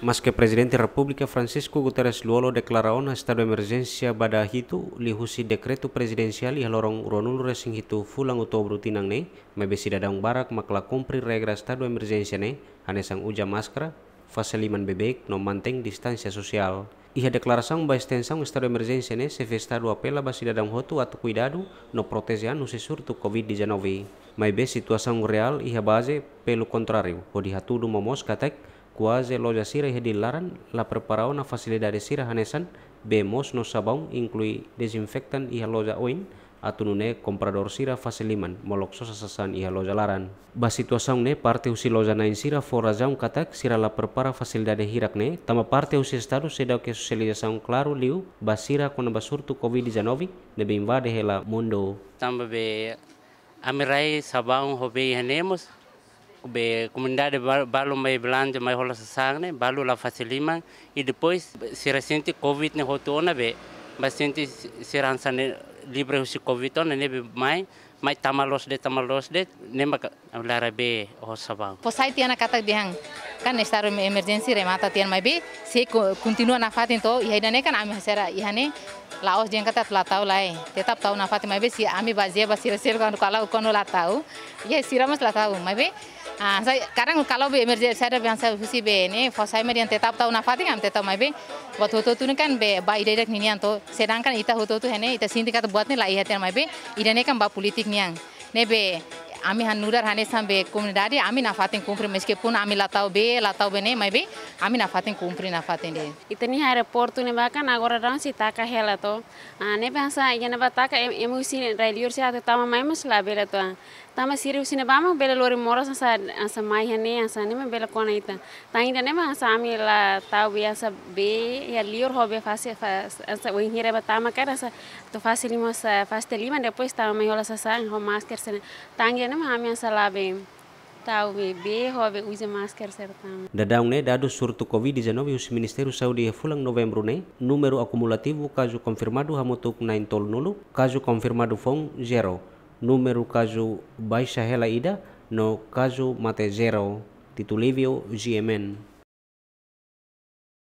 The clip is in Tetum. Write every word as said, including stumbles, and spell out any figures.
Maske Prezidente Repúblika Francisco Guterres Lú-Olo deklara ona estadu emerjénsia ba dala hitu liuhusi dekretu prezidensiál iha loron ruanulu-resin-hitu fulan Outubru tinan ne'e, maibé sidadaun barak mak la kumpre regra estadu emerjénsia ne'e, hanesan uza máskara, fase liman beibeik no mantein distánsia sosiál. Iha deklarasaun ba estensaun estadu emerjénsia ne'e, Xefe Estadu apela ba sidadaun hotu atu kuidadu no proteje an husi surtu covid dezanove. Maibé situasaun reál iha baze pelu kontráriu, hodi hatudu momoos katak kuaze loja sira iha Dili laran la prepara ona fasilidade sira hanesan bee moos no sabaun, inklui dezinfektan iha loja oin, atu nune'e kompradór sira fase liman molok sosa sasán iha loja laran. Ba situasaun ne'e, parte husi loja na'in sira fó razaun katak sira la prepara fasilidade hirak ne'e, tanba parte husi estadu seidauk iha sosializasaun klaru liu ba sira kona-ba surtu covid dezanove ne'ebé invade hela mundu. Tanba be ami rai sabaun ho bee iha ne'e mós, be komunidade ba-, balu mai belanja, mai hola sasán ne'e, balu la fase liman, i depois sira sente covid ne'e hotu ona be, ba sente sira hanesan ne'e livre husi covid ona ne'ebé mai, mai tama loos de'it, tama loos de'it, ne'e maka lara bee ho sabaun. Fó sai tiha ona katak dehan, kan estadu emerjénsia remata tiha ona maibé, sei ko-, kontinua nafatin to'o, iha ida-ne'e kan ami sira iha ne'e, la'ós dehan katak la tau lae, tetap tau nafatin maibé se ami bazeia ba sira seluk kuandu kalau kuandu la tau, iha sira mós la tau, maibé, ah, sai, kadang kalau be emerjénsia ada be hanesan husi be ne'e, fó sai mai dehan tetap tau nafatin, ami tetap maibé, buat hotu-hotu ne'e kan be ba ida-idak ninian to'o, sedangkan ita hotu-hotu iha ne'e, ita sente katak buat ne'e la iha tiha ona maibé, ida-ne'e kan ba polítika nian. Ne'ebé, ami hanu'udar hanesan be komunidade, ami nafatin kumpre meskipun ami la tau bee, la tau bee ne'e, maibé, ami nafatin kumpre nafatin de'it. Ita-nia aeroportu ne'ebá kan agora daudaun sei taka hela to'o. Ah, ne'ebé hanesan iha ne'ebá taka em-, ema husi rai liur sira atu tama mai mós labele to'o. Tanba sira husi ne'ebá mak bele lori moras hanesan, hanesan mai iha ne'e, hanesan ne'e mak bele kona ita. Tan ida-ne'e mak hanesan ami la tau bee hanesan bee iha liur ho bee fase, fas-, hanesan wainhira ba tama kan hanesan atu fase liman, hanesan fase liman depois tama mai hola sasán ho máskara sira-ne'e. Tan ida-ne'e mak ami hanesan la bee tau bee, bee ho bee uza máskara sira tama. Daudaun ne'e dadus surtu covid dezanove husi Ministériu Saúde iha fulan Novembru ne'e, númeru akumulativu kazu konfirmadu hamutuk na'in-tolunulu, kazu konfirmadu foun zero, númeru kazu baixa hela ida, no kazu mate zero. Tito Livio, G M N.